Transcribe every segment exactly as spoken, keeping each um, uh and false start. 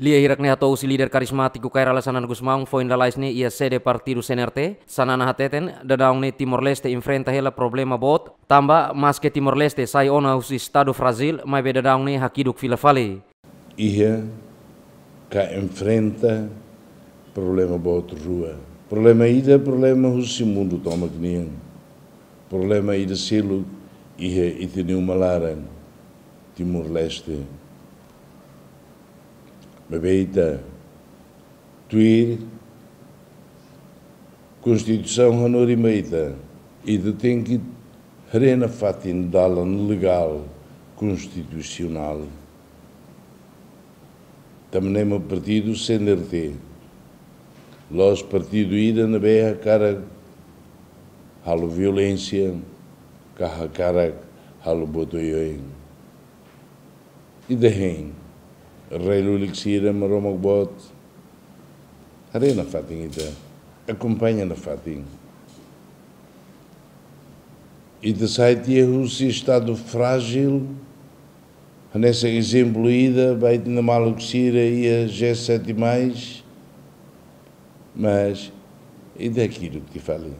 Lia hirak ne'e hato'o husi líder karizmátiku Kay Rala Xanana Gusmão foin lalais ne'e iha sede partidu C N R T, Xanana hateten, daudaun ne'e Timor-Leste enfrenta hela problema boot, tanba maske Timor-Leste sai ona husi estadu frájil, maibé daudaun ne'e hakiduk fila fali. Iha ka enfrenta problema boot rua. Problema ida, problema husi mundu tomak nian. Problema ida seluk iha ita-nia uma laran, Timor-Leste. Maibé ita tuir Konstituisaun hanorin ba ita, ita tenke haree nafatin dalan legál konstitusionál. Tanba ne'e mak partidu C N R T, la'ós partidu ida ne'ebé hakarak halo violénsia, ka hakarak halo buat oioin. Ita hein, rai lulik sira, Maromak boot, haree nafatin ita, akompaña nafatin. Ita sai tiha husi estadu frájil, hanesan ezemplu ida ba ita-nia maluk sira iha G sete mais, mas ita hakiduk tiha fali.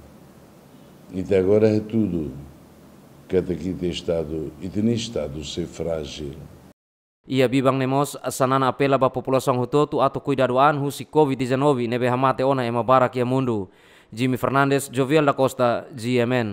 Ita agora hatudu katak ita estadu, ita-nia estadu sei frájil. Iha biban ne'e mós, Xanana apela ba populasaun hotu-hotu atu kuidadu an husi covid dezanove ne'ebé hamate ona ema barak iha mundu. Jimmy Fernandes, Jovial da Costa, G M N.